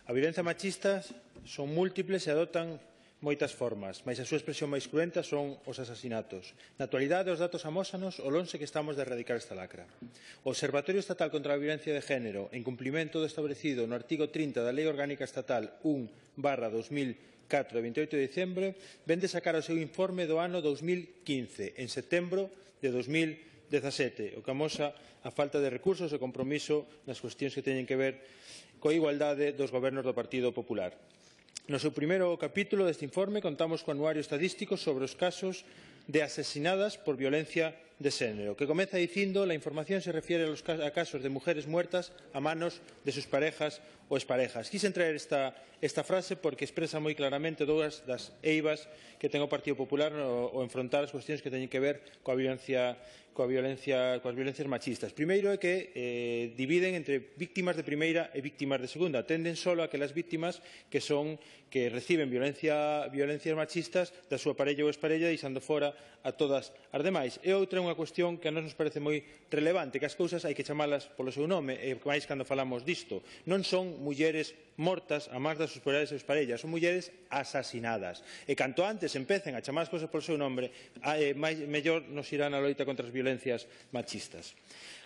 A violencia machista son múltiples e adoptan moitas formas, mas a súa expresión máis cruenta son os asasinatos. Na actualidade, os datos amósanos o lonxe que estamos de erradicar esta lacra. O Observatorio Estatal contra a Violencia de Género, en cumprimento do establecido no artigo 30 da Lei Orgánica Estatal 1/2004 de 28 de diciembre, vén de sacar o seu informe do ano 2015, en setembro de 2017, o que amosa a falta de recursos e compromiso nas cuestións que teñen que ver coa igualdade dos gobernos do Partido Popular. No seu primeiro capítulo deste informe contamos co anuario estadístico sobre os casos de asesinadas por violencia de xénero, que comeza dicindo la información se refiere a casos de mujeres muertas a manos de sus parejas ou exparejas. Quixen traer esta frase porque expresa moi claramente dúas das eivas que ten o Partido Popular ao enfrontar as cuestións que teñen que ver coas violencias machistas. Primeiro é que dividen entre víctimas de primeira e víctimas de segunda. Atenden só a aquelas víctimas que reciben violencias machistas da súa parella ou exparella, deixando fora a todas as demais. E outra é unha cuestión que a nos parece moi relevante, que as cousas hai que chamalas polo seu nome, e máis cando falamos disto. Non son mulleres mortas a mans das súas parellas ou exparellas, son mulleres asasinadas. E canto antes empecen a chamar as cousas polo seu nome, mellor nos irá na loita contra as violencias machistas.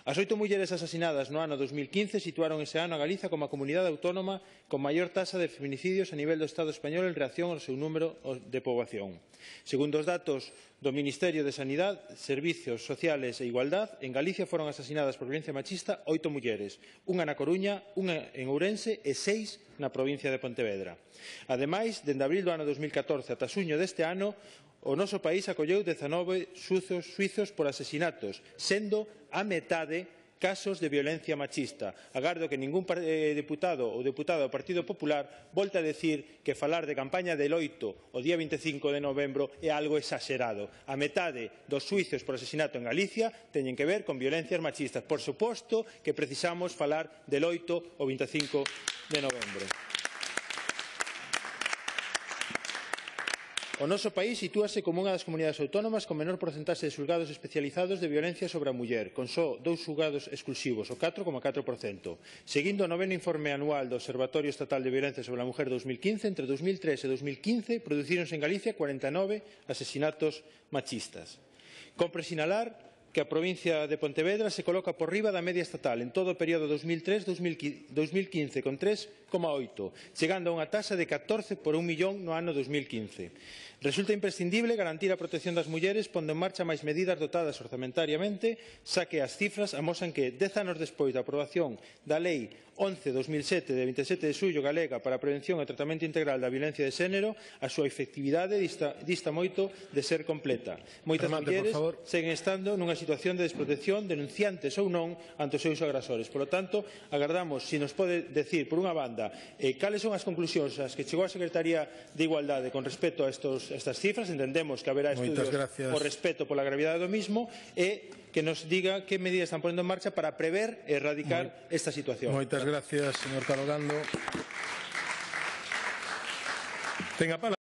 As 8 mulleres asasinadas no ano 2015 situaron ese ano a Galiza como a comunidade autónoma con maior taxa de feminicidios a nivel do Estado español en reacción ao seu número de poboación. Segundo os datos do Ministerio de Sanidade, Servizos Sociales e Igualdade, en Galicia foron asasinadas por violencia machista 8 mulleres, unha na Coruña, unha en Ourense e 6 na provincia de Pontevedra. Ademais, dende abril do ano 2014 ata xuño deste ano, o noso país acolleu 19 xuizos por asesinatos, sendo a metade casos de violencia machista. Agardo que ningún deputado ou deputada do Partido Popular volte a decir que falar de campaña de loito o día 25 de novembro é algo exagerado. A metade dos xuizos por asesinato en Galicia teñen que ver con violencias machistas. Por suposto que precisamos falar de loito o 25 de novembro. O noso país sitúase como unha das comunidades autónomas con menor porcentaxe de xulgados especializados de violencia sobre a muller, con só 2 xulgados exclusivos, o 4,4%. Seguindo o noveno informe anual do Observatorio Estatal de Violencia sobre a Mujer 2015, entre 2003 e 2015 producíronse en Galicia 49 asesinatos machistas. Compre sinalar que a provincia de Pontevedra se coloca por riba da media estatal en todo o período 2003-2015 con 3,8, chegando a unha taxa de 14 por 1 millón no ano 2015. Resulta imprescindible garantir a protección das mulleres pondo en marcha máis medidas dotadas orzamentariamente, xa que as cifras amosan que 10 anos despois da aprobación da Lei 11/2007 de 27 de xullo galega para a prevención e tratamento integral da violencia de xénero, a súa efectividade dista moito de ser completa. Moitas mulleres seguen estando nunha situación de desprotección, denunciantes ou non, ante os seus agresores. Por lo tanto, agardamos se nos pode decir, por unha banda, cales son as conclusións ás que chegou a Secretaría de Igualdade con respecto a estas cifras. Entendemos que haberá estudios o respeto pola gravidade do mismo e que nos diga que medidas están ponendo en marcha para prever e erradicar esta situación. Moitas gracias, señor Carogando. Ten a palabra.